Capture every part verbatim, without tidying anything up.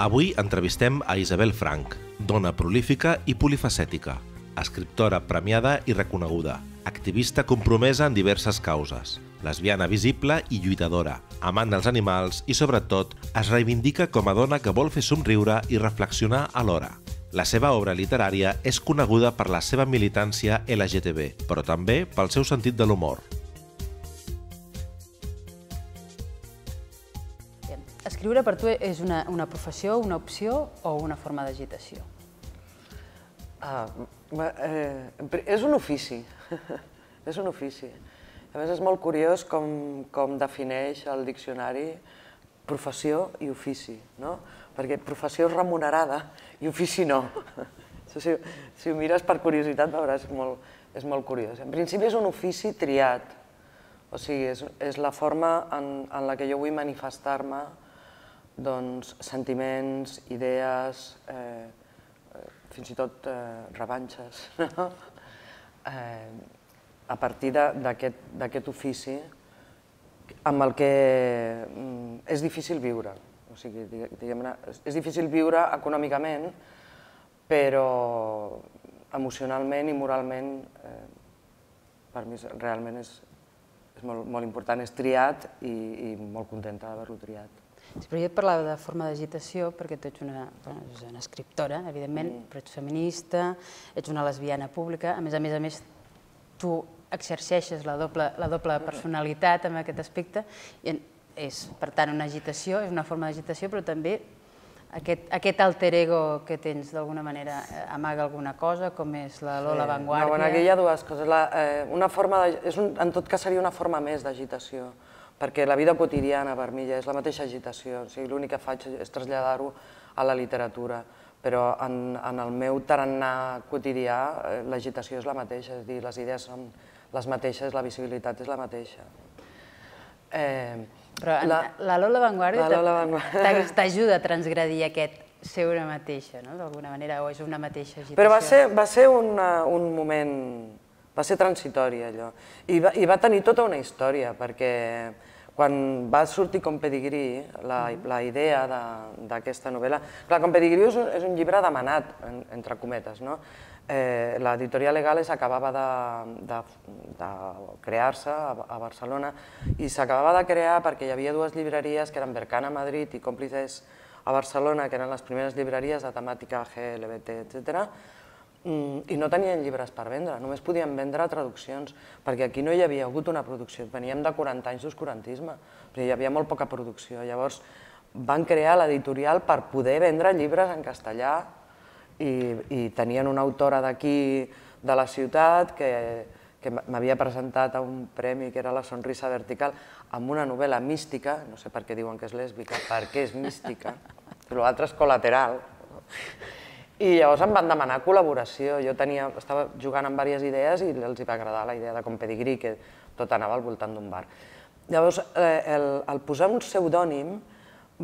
Avui entrevistem a Isabel Franch, dona prolífica i polifacètica, escriptora premiada i reconeguda, activista compromesa en diverses causes, lesbiana visible i lluitadora, amant dels animals i, sobretot, es reivindica com a dona que vol fer somriure i reflexionar alhora. La seva obra literària és coneguda per la seva militància L G T B, però també pel seu sentit de l'humor. Escriure per tu és una, una professió, una opció o una forma d'agitació? Ah, eh, és un ofici, és un ofici. A més, és molt curiós com, com defineix el diccionari professió i ofici, no? Perquè professió és remunerada i ofici no. Si, si ho mires per curiositat veuràs que és molt, és molt curiós. En principi és un ofici triat, o sigui, és, és la forma en, en la que jo vull manifestar-me doncs, sentiments, idees, eh, fins i tot eh, revanxes, no? eh, a partir d'aquest ofici amb el que mm, és difícil viure. O sigui, diguem-ne, és difícil viure econòmicament, però emocionalment i moralment eh, per mi realment és, és molt, molt important, és triat i, i molt contenta d'haver-lo triat. Sí, però jo et parlava de forma d'agitació perquè tu ets una, bueno, ets una escriptora, evidentment, mm. però ets feminista, ets una lesbiana pública, a més a més, a més tu exerceixes la doble, la doble personalitat en aquest aspecte, i és, per tant, una agitació, és una forma d'agitació, però també aquest, aquest alter ego que tens d'alguna manera amaga alguna cosa, com és la Lola sí. Vanguardia. No, bueno, aquí hi ha dues coses. La, eh, una forma de, és un, en tot cas seria una forma més d'agitació, perquè la vida quotidiana per mi ja és la mateixa agitació, o sigui, l'únic que faig és traslladar-ho a la literatura, però en, en el meu tarannà quotidià eh, l'agitació és la mateixa, és a dir, les idees són les mateixes, la visibilitat és la mateixa. Eh, però la, la Lola Vanguardia t'ajuda a transgredir aquest ser una mateixa, no? D'alguna manera, o és una mateixa agitació? Però va ser, va ser una, un moment, va ser transitori allò, i va, i va tenir tota una història, perquè quan va sortir Com Pedigrí, la, la idea d'aquesta novel·la... Clar, Com Pedigrí és un, és un llibre demanat, en, entre cometes, no? Eh, L'editorial Legales acabava de, de, de crear-se a, a Barcelona i s'acabava de crear perquè hi havia dues llibreries que eren Berkana a Madrid i Còmplices a Barcelona, que eren les primeres llibreries de temàtica G L B T, etcètera, i no tenien llibres per vendre, només podien vendre traduccions, perquè aquí no hi havia hagut una producció, veníem de quaranta anys d'oscurantisme, però hi havia molt poca producció. Llavors van crear l'editorial per poder vendre llibres en castellà i, i tenien una autora d'aquí, de la ciutat, que, que m'havia presentat a un premi que era La sonrisa vertical, amb una novel·la mística, no sé per què diuen que és lèsbica, perquè és mística, però l'altre és col·lateral. I llavors em van demanar col·laboració. Jo tenia, estava jugant amb diverses idees i els va agradar la idea de Com Pedigrí, que tot anava al voltant d'un bar. Llavors, eh, el, el posar un pseudònim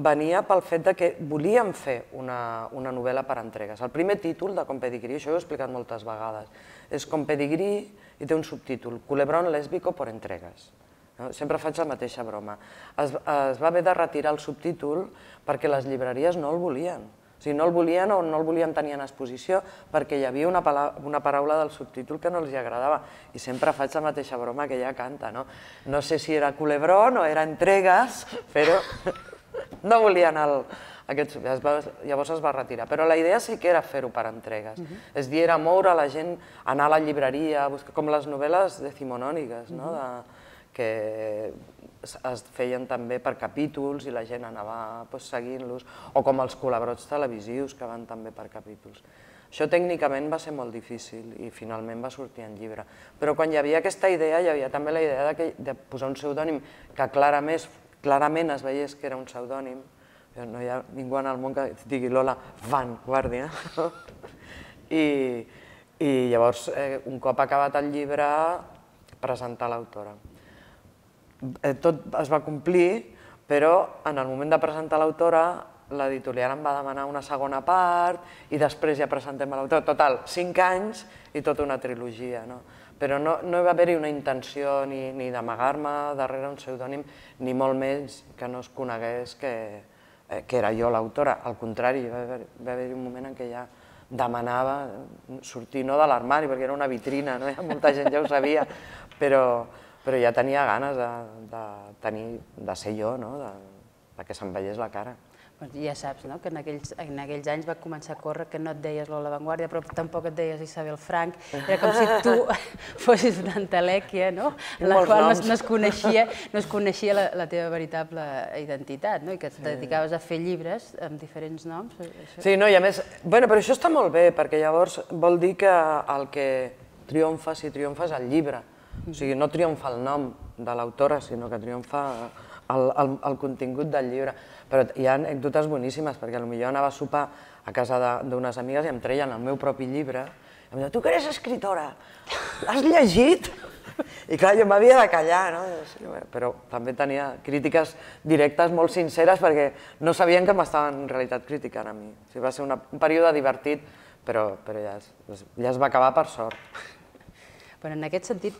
venia pel fet que volíem fer una, una novel·la per entregues. El primer títol de Com Pedigrí, això ho he explicat moltes vegades, és Com Pedigrí i té un subtítol, Culebrón lésbico por entregues. No? Sempre faig la mateixa broma. Es, es va haver de retirar el subtítol perquè les llibreries no el volien. O sigui, no el volien o no el volien tenir en exposició perquè hi havia una, una paraula del subtítol que no els agradava. I sempre faig la mateixa broma que ella canta, no? No sé si era culebrón o era entregues, però no volien el, aquest subtítol. Llavors es va retirar. Però la idea sí que era fer-ho per entregues. Uh-huh. És dir, era moure la gent, anar a la llibreria, buscar, com les novel·les decimonòniques, no? De, que es feien també per capítols i la gent anava pues, seguint-los, o com els col·labots televisius que van també per capítols. Això tècnicament va ser molt difícil i finalment va sortir en llibre. Però quan hi havia aquesta idea, hi havia també la idea de, que, de posar un pseudònim que clarament, clarament es veiés que era un pseudònim. No hi ha ningú en el món que digui Lola Vanguardia. I, i llavors, eh, un cop acabat el llibre, presentar l'autora. Tot es va complir, però en el moment de presentar l'autora, l'editorial em va demanar una segona part i després ja presentem l'autora. Total, cinc anys i tota una trilogia. Però no hi va haver-hi una intenció ni d'amagar-me darrere un pseudònim, ni molt menys que no es conegués que que era jo l'autora, al contrari, va haver-hi un moment en què ja demanava sortir no de l'armari, perquè era una vitrina, molta gent ja ho sabia, però ja tenia ganes de ser jo, que se'm veiés la cara. Ja saps que en aquells anys va començar a córrer que no et deies Lola Vanguardia, però tampoc et deies Isabel Frank. Era com si tu fossis una entelèquia, en la qual no es coneixia la teva veritable identitat i que et dedicaves a fer llibres amb diferents noms. Sí, no, i a més... Bé, però això està molt bé, perquè llavors vol dir que el que triomfa, si triomfa, és el llibre. O sigui, no triomfa el nom de l'autora, sinó que triomfa el contingut del llibre. Però hi ha anècdotes boníssimes, perquè potser anava a sopar a casa d'unes amigues i em treien el meu propi llibre i em deien, tu que eres escritora, l'has llegit? I clar, jo m'havia de callar, no? Però també tenia crítiques directes molt sinceres perquè no sabien que m'estaven en realitat criticant a mi. Va ser un període divertit, però ja es va acabar per sort. En aquest sentit,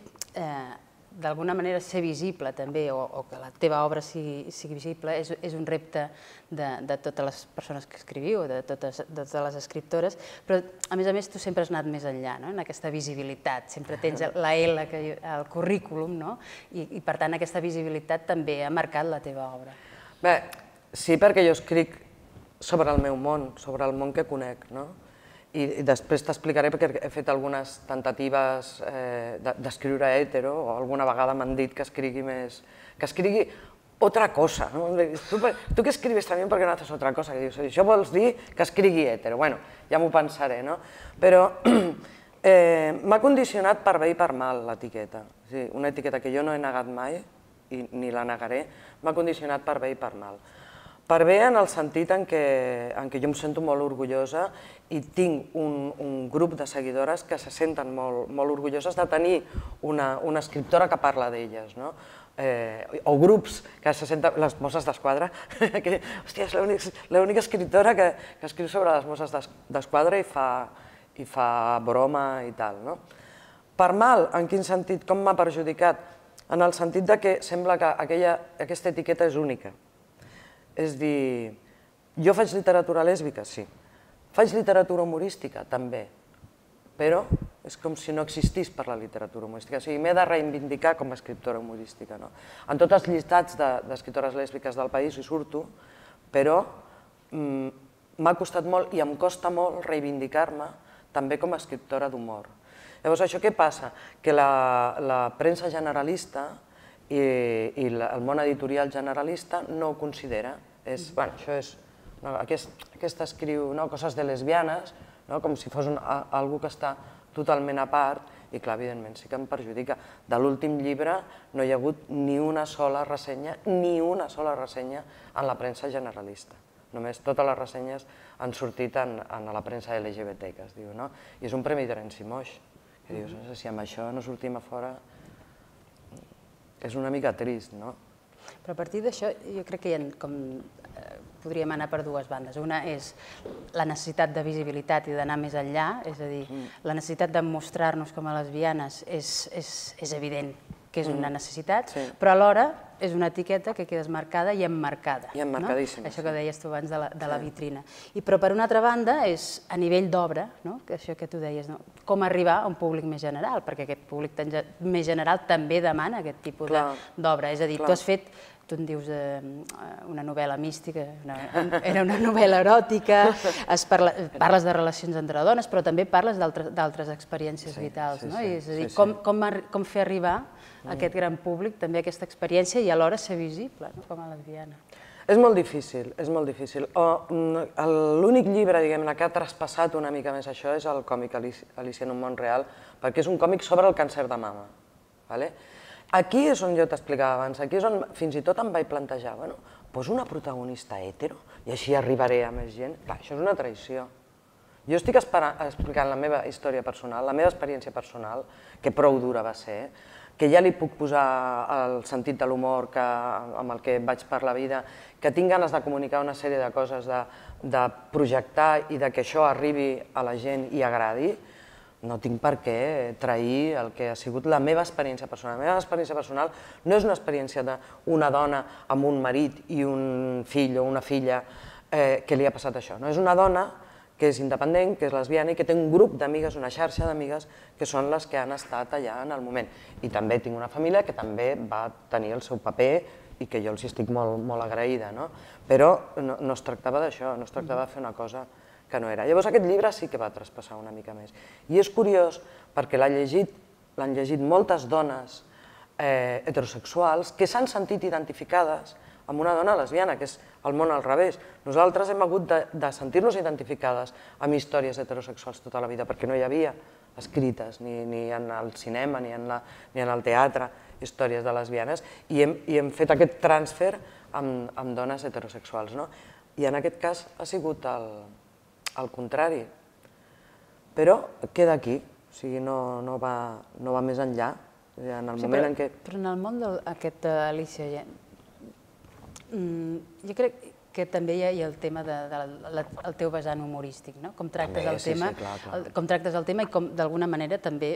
d'alguna manera ser visible també, o que la teva obra sigui visible, és un repte de totes les persones que escriviu, de totes les escriptores, però a més a més tu sempre has anat més enllà, en aquesta visibilitat, sempre tens la L al currículum, i per tant aquesta visibilitat també ha marcat la teva obra. Bé, sí, perquè jo escric sobre el meu món, sobre el món que conec, no? I després t'explicaré perquè he fet algunes tentatives d'escriure hetero, o alguna vegada m'han dit que escrigui més... que escrigui otra cosa. Tu que escribes també perquè no haces otra cosa. Això vols dir que escrigui hetero. Bueno, ja m'ho pensaré, no? Però m'ha condicionat per bé i per mal l'etiqueta. Una etiqueta que jo no he negat mai, ni la negaré, m'ha condicionat per bé i per mal. Per bé en el sentit en què jo em sento molt orgullosa i tinc un grup de seguidores que se senten molt orgulloses de tenir una escriptora que parla d'elles, o grups que se senten... Les Mosses d'Esquadra, que, hòstia, és l'única escriptora que escriu sobre les Mosses d'Esquadra i fa broma i tal. Per mal, en quin sentit? Com m'ha perjudicat? En el sentit que sembla que aquesta etiqueta és única. És dir, jo faig literatura lèsbica? Sí. Faig literatura humorística? També. Però és com si no existís per la literatura humorística. O sigui, m'he de reivindicar com a escriptora humorística. En tots els llistats d'escriptores lèsbiques del país hi surto, però m'ha costat molt i em costa molt reivindicar-me també com a escriptora d'humor. Llavors, això què passa? Que la premsa generalista i el món editorial generalista no ho considera. Aquesta escriu coses de lesbianes, com si fos algú que està totalment a part, i clar, evidentment, sí que em perjudica. De l'últim llibre no hi ha hagut ni una sola ressenya, ni una sola ressenya en la premsa generalista. Només totes les ressenyes han sortit en la premsa L G B T, que es diu, no? I és un premi Terenci Moix, que dius, si amb això no sortim a fora... és una mica trist, no? Però a partir d'això jo crec que podríem anar per dues bandes. Una és la necessitat de visibilitat i d'anar més enllà, és a dir, la necessitat de mostrar-nos com a lesbianes és evident que és una necessitat, però alhora és una etiqueta que queda marcada i emmarcada. I emmarcadíssima. Això que deies tu abans de la vitrina. Però per una altra banda és a nivell d'obra, això que tu deies, com arribar a un públic més general, perquè aquest públic més general també demana aquest tipus d'obra. És a dir, tu has fet, tu en dius una novel·la mística, era una novel·la eròtica, parles de relacions entre dones, però també parles d'altres experiències vitals. És a dir, com fer arribar a aquest gran públic també aquesta experiència i alhora ser visible com a lesbiana. És molt difícil, és molt difícil. L'únic llibre, diguem-ne, que ha traspassat una mica més això és el còmic Alicia en un món real, perquè és un còmic sobre el càncer de mama. Aquí és on jo t'explicava abans, aquí és on fins i tot em vaig plantejar, bueno, poso una protagonista hetero i així arribaré a més gent. Clar, això és una traïció. Jo estic explicant la meva història personal, la meva experiència personal, que prou dura va ser, que ja li puc posar el sentit de l'humor amb el que vaig per la vida, que tinc ganes de comunicar una sèrie de coses, de projectar i que això arribi a la gent i agradi, no tinc per què trair el que ha sigut la meva experiència personal. La meva experiència personal no és una experiència d'una dona amb un marit i un fill o una filla que li ha passat això. És una dona que és independent, que és lesbiana i que té un grup d'amigues, una xarxa d'amigues, que són les que han estat allà en el moment. I també tinc una família que també va tenir el seu paper i que jo els estic molt agraïda. Però no es tractava d'això, no es tractava de fer una cosa que no era. Llavors aquest llibre sí que va traspassar una mica més. I és curiós perquè l'han llegit moltes dones heterosexuals que s'han sentit identificades amb una dona lesbiana, que és el món al revés. Nosaltres hem hagut de sentir-nos identificades amb històries heterosexuals tota la vida, perquè no hi havia escrites, ni en el cinema, ni en el teatre, històries de lesbianes, i hem fet aquest transfer amb dones heterosexuals. I en aquest cas ha sigut el contrari. Però queda aquí, o sigui, no va més enllà. En el moment en què... Però en el món d'aquest Alícia, jo crec que també hi ha el tema del teu vessant humorístic, com tractes el tema i com d'alguna manera també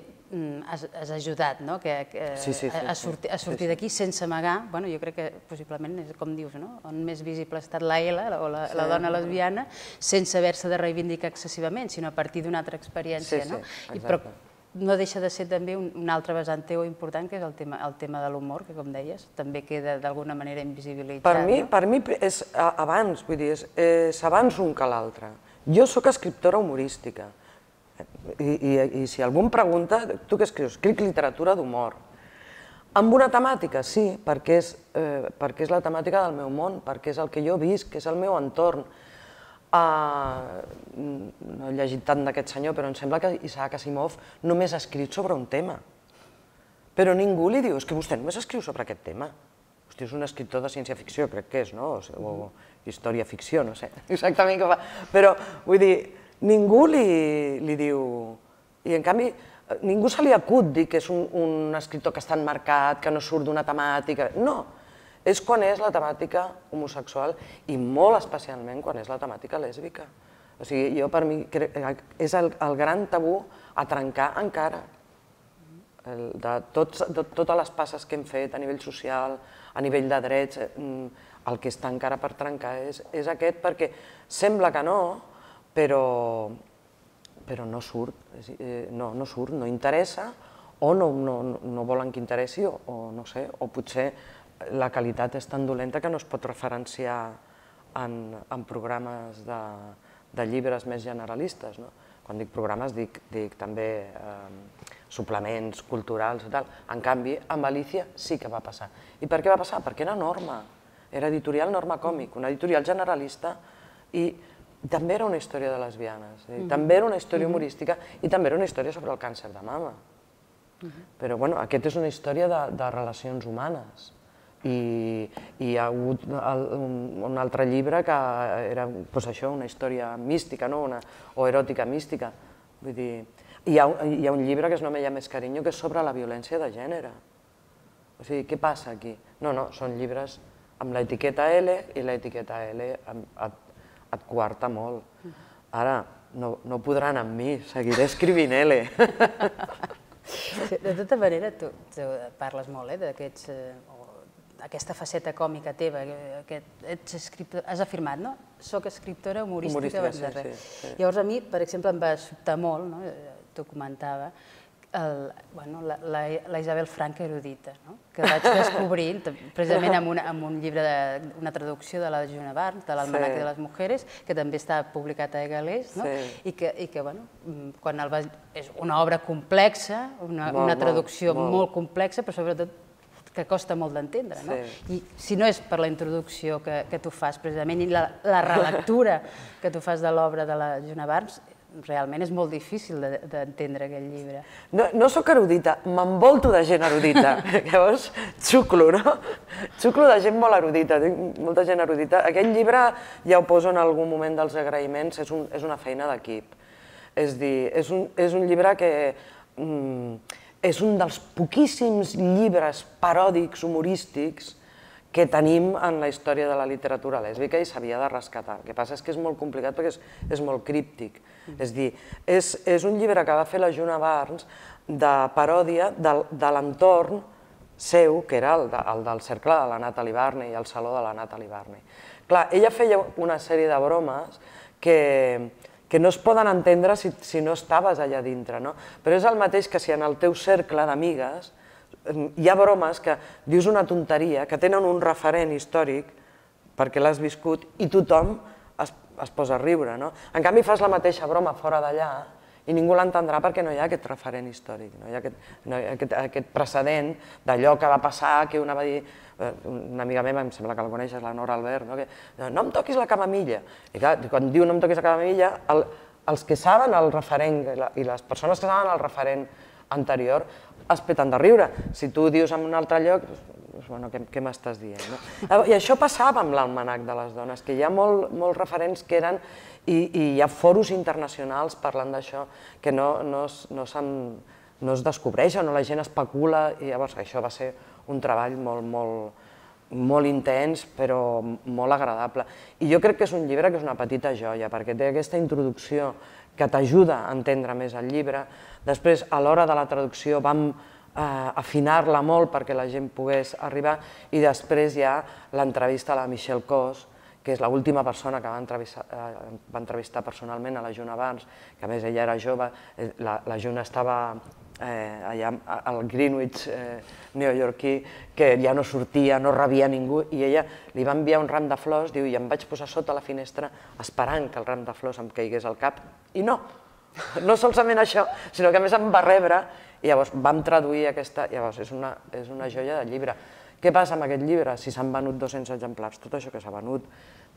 has ajudat a sortir d'aquí sense amagar. Jo crec que possiblement, com dius, on més visible ha estat la L, o la dona lesbiana, sense haver-se de reivindicar excessivament, sinó a partir d'una altra experiència. Però no deixa de ser també un altre vessant teu important, que és el tema de l'humor, que com deies, també queda d'alguna manera invisibilitzat. Per mi és abans, vull dir, és abans un que l'altre. Jo soc escriptora humorística i si algú em pregunta, tu què escrius? Escric literatura d'humor. Amb una temàtica, sí, perquè és la temàtica del meu món, perquè és el que jo visc, que és el meu entorn. No he llegit tant d'aquest senyor, però em sembla que Isaac Asimov només ha escrit sobre un tema. Però ningú li diu, és que vostè només escriu sobre aquest tema. Hosti, és un escriptor de ciència-ficció, crec que és, no? O història-ficció, no sé exactament què fa. Però, vull dir, ningú li diu... I, en canvi, ningú se li acut dir que és un escriptor que està enmarcat, que no surt d'una temàtica... No! És quan és la temàtica homosexual i molt especialment quan és la temàtica lèsbica. O sigui, jo per mi és el gran tabú a trencar encara. De totes les passes que hem fet a nivell social, a nivell de drets, el que està encara per trencar és aquest, perquè sembla que no, però no surt, no surt, no interessa, o no volen que interessi, o no sé, o potser la qualitat és tan dolenta que no es pot referenciar en programes de llibres més generalistes. Quan dic programes dic també suplements culturals i tal. En canvi, amb Alícia sí que va passar. I per què va passar? Perquè era Norma, era editorial Norma Còmic, una editorial generalista, i també era una història de lesbianes, també era una història humorística i també era una història sobre el càncer de mama. Però aquest és una història de relacions humanes. I hi ha hagut un altre llibre que era una història mística o eròtica mística. Hi ha un llibre que es no me llames cariño, que és sobre la violència de gènere. O sigui, què passa aquí? No, no, són llibres amb l'etiqueta L i l'etiqueta L et coarta molt. Ara, no podran amb mi, seguiré escrivint L. De tota manera, tu parles molt d'aquests... aquesta faceta còmica teva, has afirmat, no? Soc escriptora humorística abans de res. Llavors a mi, per exemple, em va sobtar molt, t'ho comentava, la Isabel Frank erudita, que vaig descobrint precisament amb un llibre, una traducció de la Joana Barnes, de l'Almanac de les Mujeres, que també està publicat a Galés, i que és una obra complexa, una traducció molt complexa, però sobretot que costa molt d'entendre. I si no és per la introducció que tu fas precisament i la relectura que tu fas de l'obra de la Joana Barnes, realment és molt difícil d'entendre aquell llibre. No soc erudita, m'envolto de gent erudita. Llavors, xuclo, no? Xuclo de gent molt erudita, tinc molta gent erudita. Aquest llibre, ja ho poso en algun moment dels agraïments, és una feina d'equip. És a dir, és un llibre que... és un dels poquíssims llibres paròdics, humorístics, que tenim en la història de la literatura lèsbica i s'havia de rescatar. El que passa és que és molt complicat perquè és molt críptic. És a dir, és un llibre que va fer la Juna Barnes de paròdia de l'entorn seu, que era el del cercle de la Natalie Barney i el saló de la Natalie Barney. Clar, ella feia una sèrie de bromes que no es poden entendre si no estaves allà dintre, no? Però és el mateix que si en el teu cercle d'amigues hi ha bromes que dius una tonteria, que tenen un referent històric perquè l'has viscut i tothom es posa a riure, no? En canvi fas la mateixa broma fora d'allà i ningú l'entendrà perquè no hi ha aquest referent històric, no hi ha aquest precedent d'allò que va passar, que una va dir, una amiga meva, em sembla que la coneixes, la Nora Albert, no em toquis la camamilla. I clar, quan diu no em toquis la camamilla, els que saben el referent i les persones que saben el referent anterior es peten de riure. Si tu dius en un altre lloc, bueno, què m'estàs dient? I això passava amb l'Almanac de les dones, que hi ha molts referents que eren, i hi ha foros internacionals parlant d'això, que no es descobreixen o la gent especula, i llavors això va ser un treball molt intens, però molt agradable. I jo crec que és un llibre que és una petita joia, perquè té aquesta introducció que t'ajuda a entendre més el llibre. Després, a l'hora de la traducció, vam afinar-la molt perquè la gent pogués arribar, i després hi ha l'entrevista a la Michelle Cos, que és l'última persona que va entrevistar personalment a la Juna Barnes, que a més ella era jove, la Juna estava allà al Greenwich neoyorquí, que ja no sortia, no rebia ningú, i ella li va enviar un ram de flors, diu, i em vaig posar sota la finestra esperant que el ram de flors em caigués al cap, i no, no solament això, sinó que a més em va rebre, i llavors vam traduir aquesta, llavors és una joia de llibre. Què passa amb aquest llibre? Si s'han venut dos-cents exemplars, tot això que s'ha venut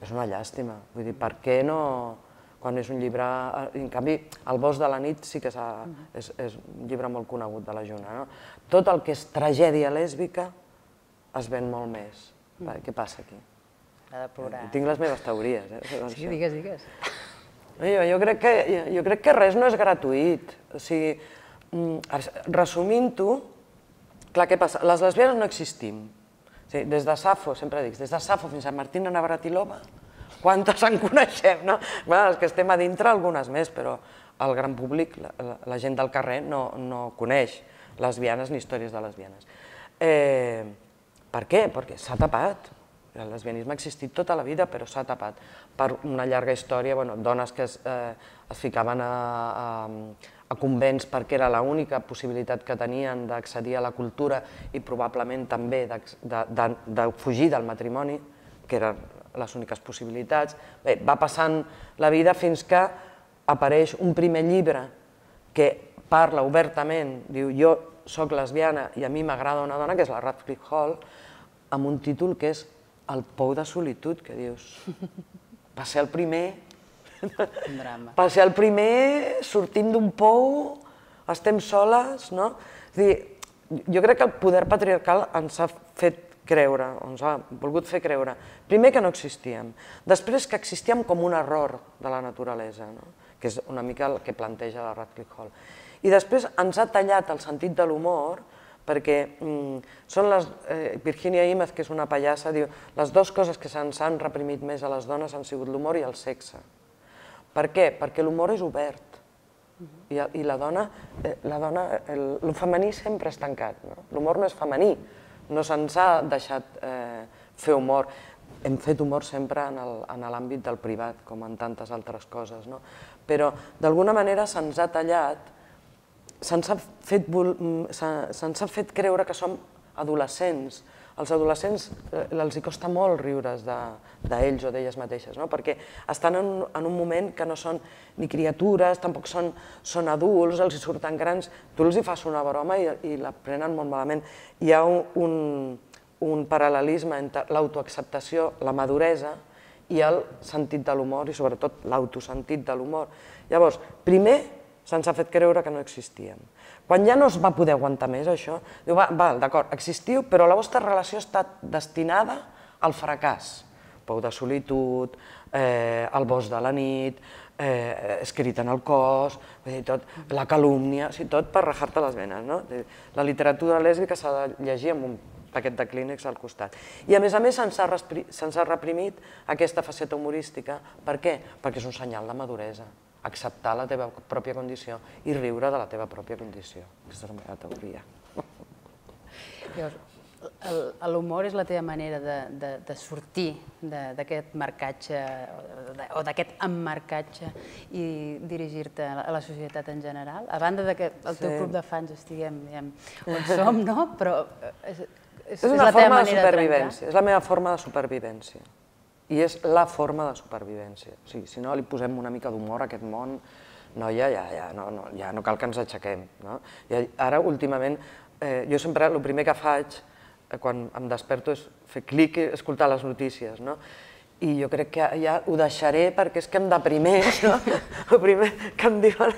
és una llàstima, vull dir, per què no... quan és un llibre... En canvi, El bosc de la nit sí que és un llibre molt conegut de la Juna. Tot el que és tragèdia lèsbica es ven molt més. Què passa aquí? Ha de plorar. Tinc les meves teories. Sí, digues, digues. Jo crec que res no és gratuït. O sigui, resumint-ho, clar, què passa? Les lesbianes no existim. Des de Safo, sempre dic, des de Safo fins a Martina Navratilova, quantes en coneixem, no? Els que estem a dintre, algunes més, però el gran públic, la gent del carrer, no coneix lesbianes ni històries de lesbianes. Per què? Perquè s'ha tapat. El lesbianisme ha existit tota la vida, però s'ha tapat per una llarga història, dones que es ficaven a convents perquè era l'única possibilitat que tenien d'accedir a la cultura i probablement també de fugir del matrimoni, que eren les úniques possibilitats. Bé, va passant la vida fins que apareix un primer llibre que parla obertament, diu jo soc lesbiana i a mi m'agrada una dona, que és la Radcliffe Hall, amb un títol que és El pou de solitud, que dius, va ser el primer, va ser el primer sortint d'un pou, estem soles, no? És a dir, jo crec que el poder patriarcal ens ha fet creure, ens ha volgut fer creure, primer que no existíem, després que existíem com un error de la naturalesa, que és una mica el que planteja la Radcliffe Hall, i després ens ha tallat el sentit de l'humor, perquè són les... Virginia Imaz, que és una pallassa, diu les dues coses que se'ns han reprimit més a les dones han sigut l'humor i el sexe. Per què? Perquè l'humor és obert i la dona, el femení sempre és tancat, l'humor no és femení, no se'ns ha deixat fer humor. Hem fet humor sempre en l'àmbit del privat, com en tantes altres coses, però d'alguna manera se'ns ha tallat, se'ns ha fet creure que som adolescents. Als adolescents els costa molt riure's d'ells o d'elles mateixes, perquè estan en un moment que no són ni criatures, tampoc són adults, els surten grans, tu els fas una broma i la prenen molt malament. Hi ha un paral·lelisme entre l'autoacceptació, la maduresa i el sentit de l'humor i sobretot l'autosentit de l'humor. Llavors, primer se'ns ha fet creure que no existíem. Quan ja no es va poder aguantar més això, diu, va, d'acord, existiu, però la vostra relació està destinada al fracàs. Pou de solitud, El bosc de la nit, Escrit en el cos, la calúmnia, tot per rajar-te les venes. La literatura lèsbica s'ha de llegir amb un paquet de clínex al costat. I a més a més se'ns ha reprimit aquesta faceta humorística. Per què? Perquè és un senyal de maduresa, acceptar la teva pròpia condició i riure de la teva pròpia condició. Aquesta és la meva teoria. L'humor és la teva manera de sortir d'aquest marcatge o d'aquest emmarcatge i dirigir-te a la societat en general? A banda que el teu club de fans estiguem on som, no? Però és una forma de supervivència, és la meva forma de supervivència. I és la forma de supervivència. Si no li posem una mica d'humor a aquest món, noia, ja no cal que ens aixequem. Ara, últimament, jo sempre el primer que faig quan em desperto és fer clic i escoltar les notícies. I jo crec que ja ho deixaré perquè és que em deprimeix, el primer que em diuen.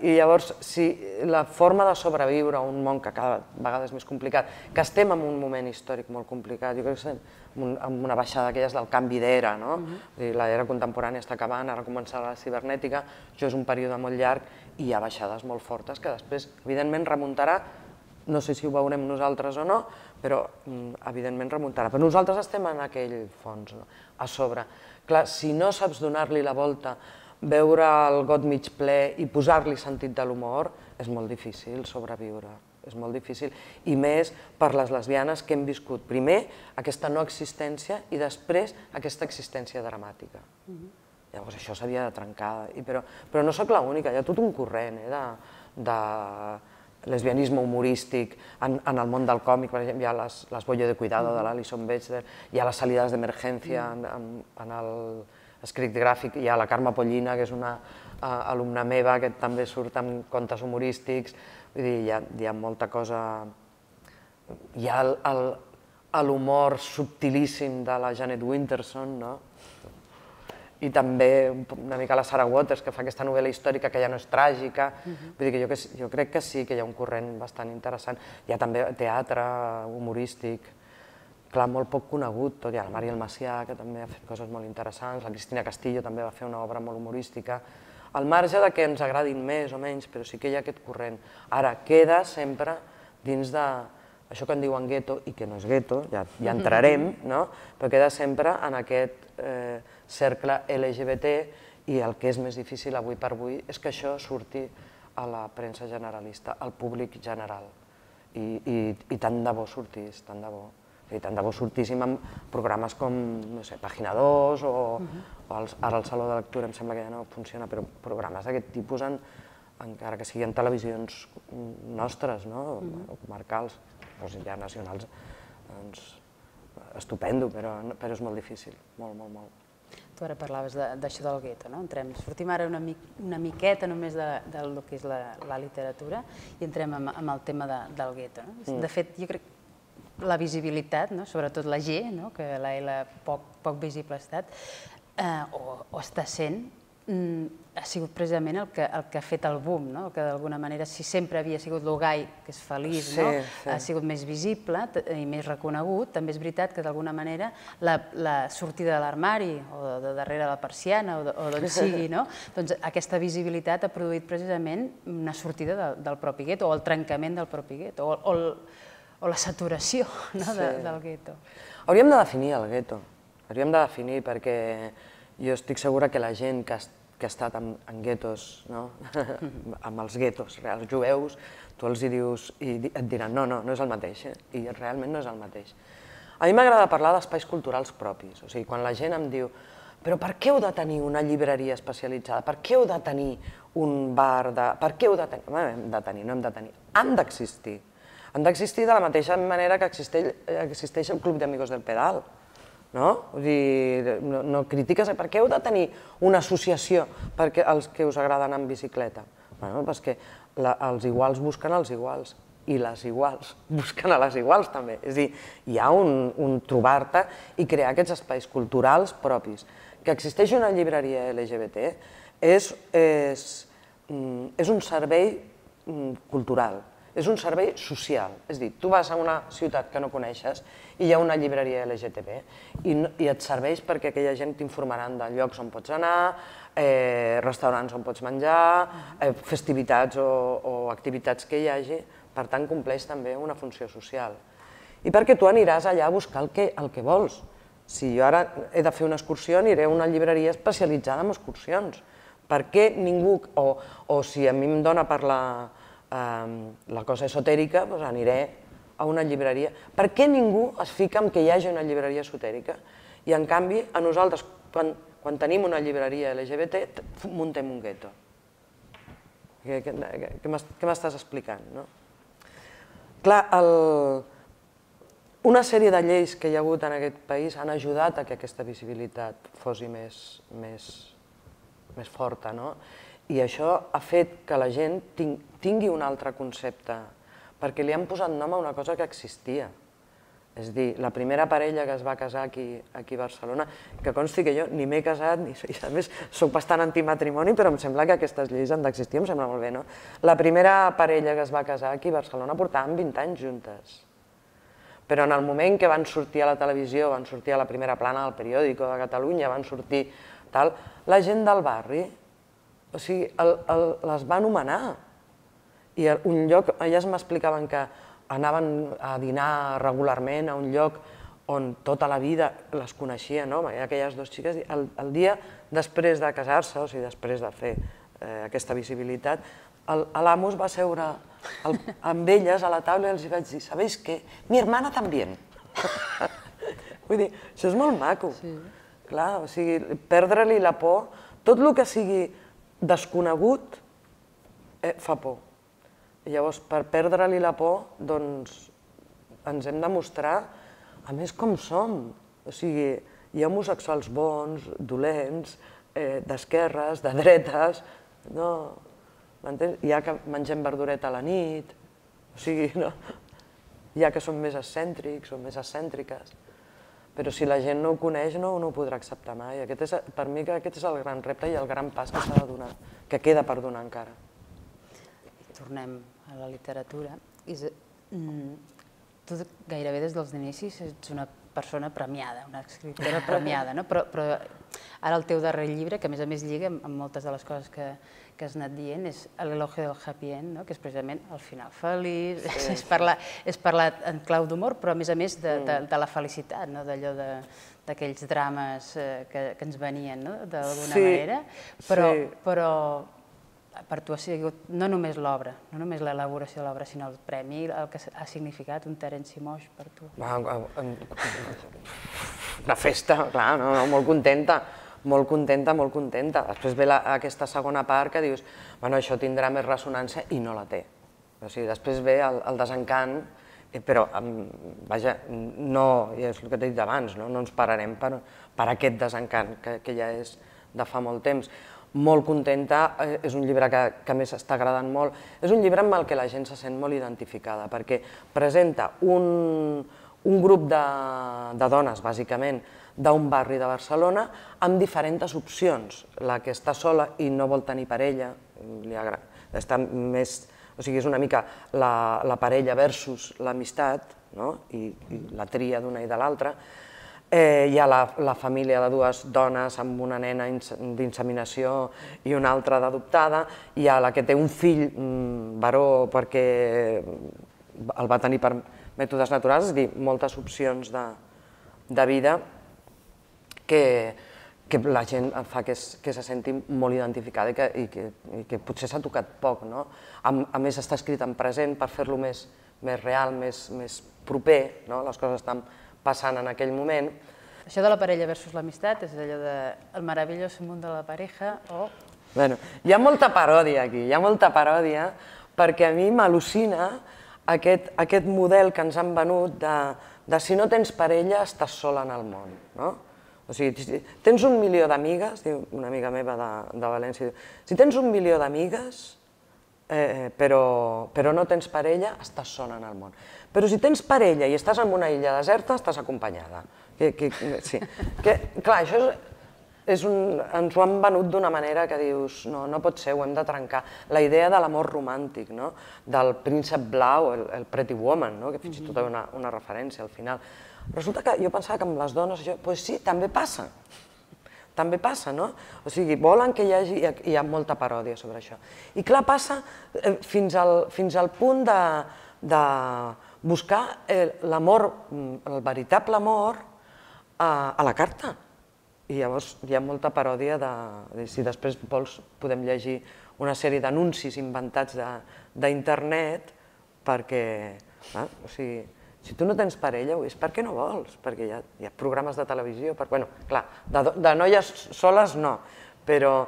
I llavors, si la forma de sobreviure a un món que cada vegada és més complicat, que estem en un moment històric molt complicat, jo crec que estem en una baixada d'aquelles del canvi d'era, l'era contemporània està acabant, ara començarà la cibernètica, això és un període molt llarg i hi ha baixades molt fortes que després, evidentment, remuntarà. No sé si ho veurem nosaltres o no, però evidentment remuntarà. Però nosaltres estem en aquell fons, a sobre. Clar, si no saps donar-li la volta, veure el got mig ple i posar-li sentit de l'humor, és molt difícil sobreviure. És molt difícil. I més per les lesbianes que hem viscut. Primer, aquesta no existència i després aquesta existència dramàtica. Llavors això s'havia de trencar. Però no soc l'única, hi ha tot un corrent de lesbianisme humorístic en el món del còmic. Per exemple, hi ha les Bollo de Cuidado de l'Alison Bechdel, hi ha les Salidas d'Emergència en l'escrit gràfic, hi ha la Carme Pollina, que és una alumna meva, que també surt amb contes humorístics. Vull dir, hi ha molta cosa... Hi ha l'humor subtilíssim de la Janet Winterson, no? I també una mica la Sarah Waters, que fa aquesta novel·la històrica que ja no és tràgica. Vull dir que jo crec que sí, que hi ha un corrent bastant interessant. Hi ha també teatre humorístic, clar, molt poc conegut tot. Hi ha la Mariel Macià, que també ha fet coses molt interessants, la Cristina Castillo també va fer una obra molt humorística. Al marge que ens agradin més o menys, però sí que hi ha aquest corrent. Ara, queda sempre dins de... això que en diuen gueto, i que no és gueto, ja entrarem, però queda sempre en aquest cercle L G B T i el que és més difícil avui per avui és que això surti a la premsa generalista, al públic general. I tant de bo sortís, tant de bo. I tant de bo sortíssim en programes com, no sé, Pàgina dos o ara el Saló de Lectura, em sembla que ja no funciona, però programes d'aquest tipus, encara que siguin televisions nostres, no?, o comarcals, o ja nacionals, doncs estupendo, però és molt difícil, molt, molt, molt. Tu ara parlaves d'això del gueto, no? Sortim ara una miqueta només del que és la literatura i entrem en el tema del gueto. De fet, jo crec que la visibilitat, sobretot la G, que la L poc visible ha estat, o està sent, ha sigut precisament el que ha fet el boom, que d'alguna manera, si sempre havia sigut el gai, que és feliç, ha sigut més visible i més reconegut, també és veritat que d'alguna manera la sortida de l'armari o de darrere la persiana o d'on sigui, doncs aquesta visibilitat ha produït precisament una sortida del propi gueto o el trencament del propi gueto o la saturació del gueto. Hauríem de definir el gueto, hauríem de definir perquè jo estic segura que la gent que ha estat en guetos, amb els guetos reals jueus, tu els hi dius i et diran no, no, no és el mateix, i realment no és el mateix. A mi m'agrada parlar d'espais culturals propis, o sigui, quan la gent em diu però per què heu de tenir una llibreria especialitzada, per què heu de tenir un bar, per què heu de tenir... No hem de tenir, no hem de tenir, han d'existir. Han d'existir de la mateixa manera que existeix el Club d'Amigos del Pedal. No? Vull dir, no critiques, per què heu de tenir una associació per als que us agrada anar en bicicleta? Bé, perquè els iguals busquen els iguals i les iguals busquen a les iguals també. És a dir, hi ha un trobar-te i crear aquests espais culturals propis. Que existeix una llibreria L G B T és un servei cultural, és un servei social. És a dir, tu vas a una ciutat que no coneixes i hi ha una llibreria L G B T i et serveix perquè aquella gent t'informaran de llocs on pots anar, restaurants on pots menjar, festivitats o activitats que hi hagi, per tant compleix també una funció social. i perquè tu aniràs allà a buscar el que vols. Si jo ara he de fer una excursió, aniré a una llibreria especialitzada en excursions. Per què ningú, o si a mi em dona per la cosa esotèrica, doncs aniré a una llibreria. Per què ningú es fica en que hi hagi una llibreria esotèrica? I en canvi, a nosaltres, quan tenim una llibreria L G B T, muntem un gueto. Què m'estàs explicant? Clar, una sèrie de lleis que hi ha hagut en aquest país han ajudat a que aquesta visibilitat fos més forta, i això ha fet que la gent tingui un altre concepte, perquè li han posat nom a una cosa que existia. És a dir, la primera parella que es va casar aquí a Barcelona, que consti que jo ni m'he casat, i a més soc bastant antimatrimoni, però em sembla que aquestes lleis han d'existir, em sembla molt bé, no? La primera parella que es va casar aquí a Barcelona portaven vint anys juntes. Però en el moment que van sortir a la televisió, van sortir a la primera plana del periòdico de Catalunya, van sortir tal, la gent del barri, o sigui, les va anomenar. I un lloc, elles m'explicaven que anaven a dinar regularment a un lloc on tota la vida les coneixien, aquelles dues xiques, el dia després de casar-se, o sigui, després de fer aquesta visibilitat, l'amo es va seure amb elles a la taula i els vaig dir, ¿sabéis qué? Mi hermana también. Vull dir, això és molt maco. Clar, o sigui, perdre-li la por, tot el que sigui desconegut fa por. Llavors, per perdre-li la por, doncs, ens hem de mostrar, a més, com som. O sigui, hi ha homosexuals bons, dolents, d'esquerres, de dretes, no... Hi ha que mengem verdureta a la nit, o sigui, no... Hi ha que són més excèntrics o més excèntriques, però si la gent no ho coneix no ho podrà acceptar mai. Per mi aquest és el gran repte i el gran pas que s'ha de donar, que queda per donar encara. Tornem a la literatura. Tu gairebé des dels inicis ets una persona premiada, una escriptora premiada, però ara el teu darrer llibre, que a més a més lliga amb moltes de les coses que has anat dient, és l'elogio del happy end, que és precisament el final feliç, és parlat en clau d'humor, però a més a més de la felicitat, d'allò d'aquells drames que ens venien d'alguna manera, però per tu ha sigut no només l'obra, no només l'elaboració de l'obra, sinó el premi, el que ha significat un Terenci Moix per tu. Una festa, clar, molt contenta, molt contenta, molt contenta. Després ve aquesta segona part que dius, bueno, això tindrà més ressonància i no la té. O sigui, després ve el desencant, però, vaja, no, és el que t'he dit abans, no ens pararem per aquest desencant que ja és de fa molt temps. Molt contenta, és un llibre que a més està agradant molt, és un llibre amb el que la gent se sent molt identificada, perquè presenta un grup de dones, bàsicament, d'un barri de Barcelona, amb diferents opcions. La que està sola i no vol tenir parella, està més, o sigui, és una mica la parella versus l'amistat, i la tria d'una i de l'altra. Hi ha la família de dues dones amb una nena d'inseminació i una altra d'adoptada, hi ha la que té un fill varó perquè el va tenir per mètodes naturals, és a dir, moltes opcions de vida que la gent fa que se senti molt identificada i que potser s'ha tocat poc. A més, està escrit en present per fer-lo més real, més proper, les coses estan passant en aquell moment. Això de la parella versus l'amistat és allò de el maravilloso mundo de la pareja o... Bé, hi ha molta paròdia aquí, hi ha molta paròdia, perquè a mi m'al·lucina aquest model que ens han venut de si no tens parella estàs sola en el món. O sigui, tens un milió d'amigues, diu una amiga meva de València, si tens un milió d'amigues però no tens parella, estàs sola en el món. Però si tens parella i estàs en una illa deserta, estàs acompanyada. Clar, això ens ho han venut d'una manera que dius, no pot ser, ho hem de trencar. La idea de l'amor romàntic, del príncep blau, el Pretty Woman, que fins i tot hi ha una referència al final. Resulta que jo pensava que amb les dones, doncs sí, també passa. També passa, no? O sigui, volen que hi hagi... Hi ha molta paròdia sobre això. I clar, passa fins al punt de buscar l'amor, el veritable amor, a la carta. I llavors hi ha molta paròdia de... Si després vols podem llegir una sèrie d'anuncis inventats d'internet perquè... O sigui, si tu no tens parella, és perquè no vols, perquè hi ha programes de televisió... Bueno, clar, de noies soles no, però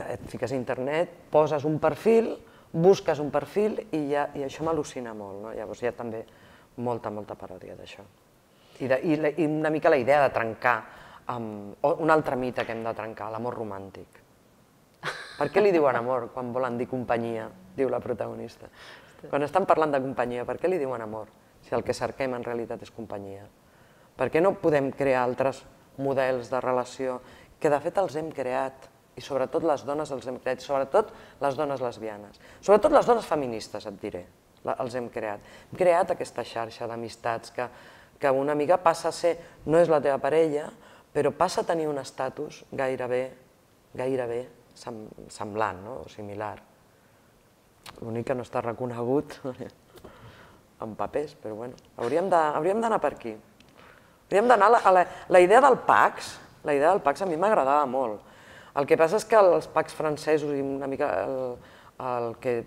et fiques a internet, poses un perfil, busques un perfil i això m'al·lucina molt. Llavors hi ha també molta, molta paròdia d'això. I una mica la idea de trencar, un altre mite que hem de trencar, l'amor romàntic. Per què li diuen amor quan volen dir companyia, diu la protagonista? Quan estan parlant de companyia, per què li diuen amor, si el que cerquem en realitat és companyia? Per què no podem crear altres models de relació que de fet els hem creat, i sobretot les dones els hem creat, sobretot les dones lesbianes, sobretot les dones feministes, et diré, els hem creat. Hem creat aquesta xarxa d'amistats que una mica passa a ser, no és la teva parella, però passa a tenir un estatus gairebé, gairebé semblant o similar. L'únic que no està reconegut en papers, però bueno, hauríem d'anar per aquí. Hauríem d'anar a la idea del Pax, la idea del Pax a mi m'agradava molt. El que passa és que els Pax francesos i una mica el que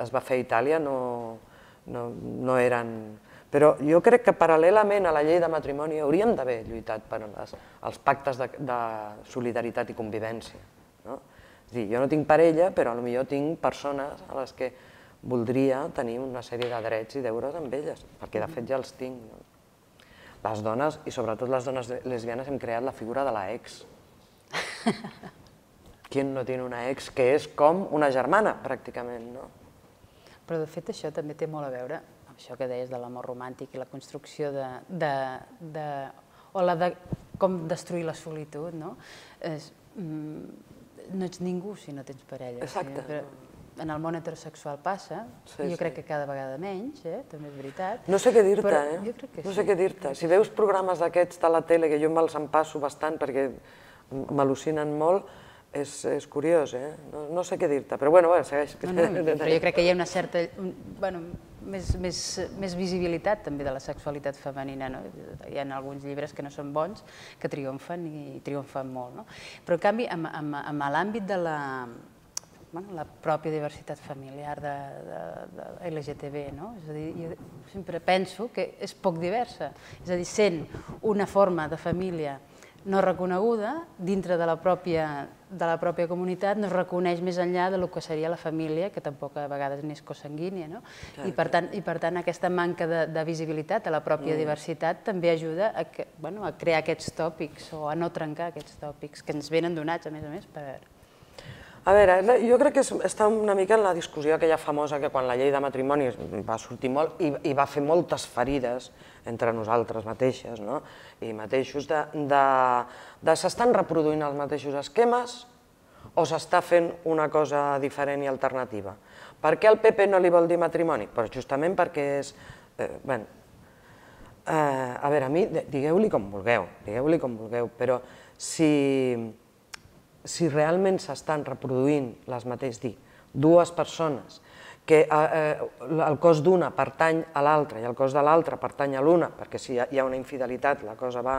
es va fer a Itàlia no eren... Però jo crec que paral·lelament a la llei de matrimoni hauríem d'haver lluitat per als pactes de solidaritat i convivència. És a dir, jo no tinc parella, però potser tinc persones a les que voldria tenir una sèrie de drets i deures amb elles, perquè de fet ja els tinc. Les dones, i sobretot les dones lesbianes, hem creat la figura de l'ex. Qui no té una ex que és com una germana, pràcticament, no? Però de fet això també té molt a veure amb això que deies de l'amor romàntic i la construcció de... o la de com destruir la solitud, no? No ets ningú si no tens parella. Exacte. En el món heterosexual passa, jo crec que cada vegada menys, també és veritat. No sé què dir-te, eh? No sé què dir-te. Si veus programes d'aquests de la tele, que jo me'ls empasso bastant perquè m'al·lucinen molt, és curiós, eh? No sé què dir-te, però bueno, segueix. Però jo crec que hi ha una certa, bueno, més visibilitat també de la sexualitat femenina, no? Hi ha alguns llibres que no són bons, que triomfen i triomfen molt, no? Però en canvi, en l'àmbit de la la pròpia diversitat familiar de L G T B, no? És a dir, jo sempre penso que és poc diversa, és a dir, sent una forma de família no reconeguda, dintre de la pròpia comunitat, no es reconeix més enllà del que seria la família, que tampoc a vegades n'és cosanguínia, no? I per tant, aquesta manca de visibilitat a la pròpia diversitat també ajuda a crear aquests tòpics o a no trencar aquests tòpics que ens venen donats, a més a més, per... A veure, jo crec que està una mica en la discussió aquella famosa que quan la llei de matrimoni va sortir molt i va fer moltes ferides entre nosaltres mateixes i mateixos, de s'estan reproduint els mateixos esquemes o s'està fent una cosa diferent i alternativa. Per què el P P no li vol dir matrimoni? Justament perquè és... Bé, a veure, a mi, digueu-li com vulgueu, digueu-li com vulgueu, però si... si realment s'estan reproduint les mateixes, dir, dues persones, que el cos d'una pertany a l'altra i el cos de l'altra pertany a l'una, perquè si hi ha una infidelitat la cosa va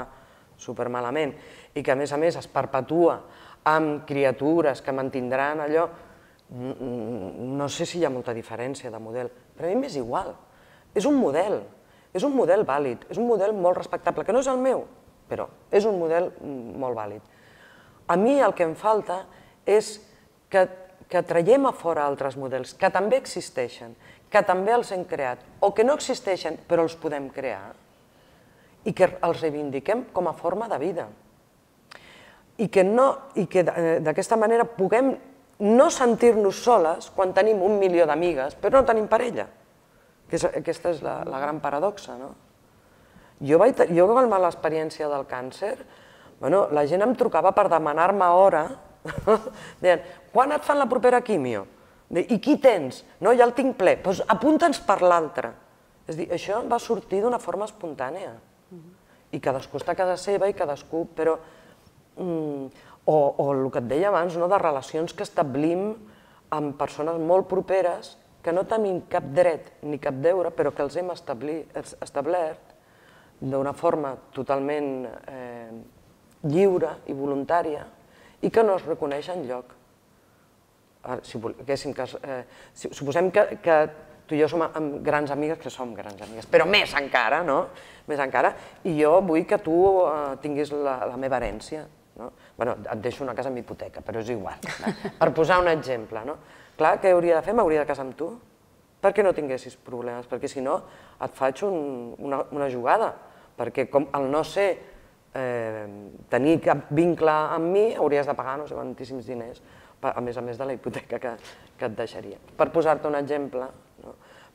supermalament, i que a més a més es perpetua amb criatures que mantindran allò, no sé si hi ha molta diferència de model, però a mi m'és igual, és un model, és un model vàlid, és un model molt respectable, que no és el meu, però és un model molt vàlid. A mi el que em falta és que traiem a fora altres models, que també existeixen, que també els hem creat, o que no existeixen però els podem crear, i que els reivindiquem com a forma de vida. I que d'aquesta manera puguem no sentir-nos soles quan tenim un milió d'amigues, però no tenim parella. Aquesta és la gran paradoxa, no? Jo amb l'experiència del càncer, la gent em trucava per demanar-me hora, deien, quan et fan la propera quimio? I qui tens? No, ja el tinc ple, doncs apunta'ns per l'altre. És a dir, això va sortir d'una forma espontània. I cadascú està a casa seva i cadascú, però... O el que et deia abans, de relacions que establim amb persones molt properes que no tenim cap dret ni cap deure, però que els hem establert d'una forma totalment lliure i voluntària i que no es reconeix enlloc. Suposem que tu i jo som grans amigues, que som grans amigues, però més encara, no? Més encara, i jo vull que tu tinguis la meva herència. Bé, et deixo una casa amb hipoteca, però és igual. Per posar un exemple, no? Clar, què hauria de fer? M'hauria de casar amb tu? Perquè no tinguessis problemes, perquè si no et faig una jugada, perquè al no ser tenir cap vincle amb mi hauries de pagar no sé quantíssims diners, a més a més de la hipoteca que et deixaria. Per posar-te un exemple,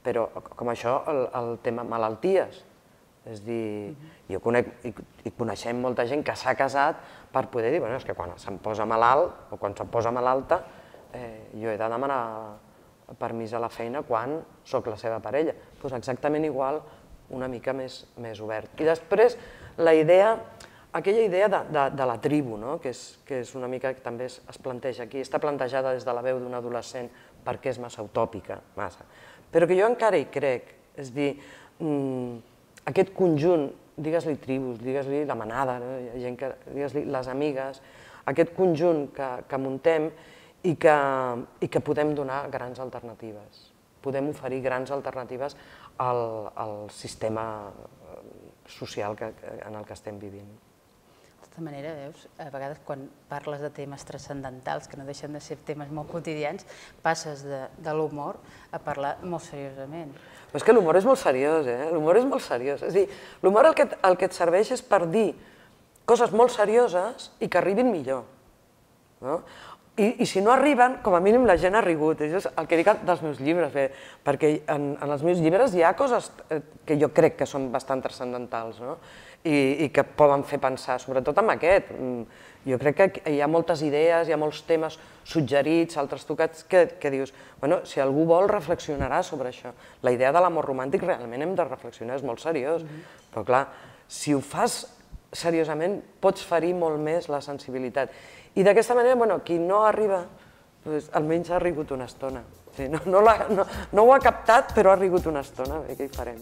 però com això el tema malalties, és dir, jo conec i coneixem molta gent que s'ha casat per poder dir, bueno, és que quan se'm posa malalt o quan se'm posa malalta jo he de demanar permís a la feina quan soc la seva parella. Doncs exactament igual, una mica més obert. I després la idea, aquella idea de la tribu, que és una mica que també es planteja aquí, està plantejada des de la veu d'un adolescent perquè és massa utòpica, massa. Però que jo encara hi crec, és dir, aquest conjunt, digues-li tribus, digues-li la manada, digues-li les amigues, aquest conjunt que muntem i que podem donar grans alternatives. Podem oferir grans alternatives al sistema social en el que estem vivint. De tota manera, veus, a vegades quan parles de temes transcendentals, que no deixen de ser temes molt quotidians, passes de l'humor a parlar molt seriosament. Però és que l'humor és molt seriós, eh? L'humor és molt seriós. És a dir, l'humor el que et serveix és per dir coses molt serioses i que arribin millor. I si no arriben, com a mínim la gent ha rigut. Això és el que dic dels meus llibres, perquè en els meus llibres hi ha coses que jo crec que són bastant transcendentals i que poden fer pensar, sobretot amb aquest. Jo crec que hi ha moltes idees, hi ha molts temes suggerits, altres tocats, que dius, bueno, si algú vol reflexionarà sobre això. La idea de l'amor romàntic realment hem de reflexionar, és molt seriós, però clar, si ho fas seriosament pots ferir molt més la sensibilitat. I d'aquesta manera, qui no arriba, almenys ha rigut una estona. No ho ha captat, però ha rigut una estona, què hi farem?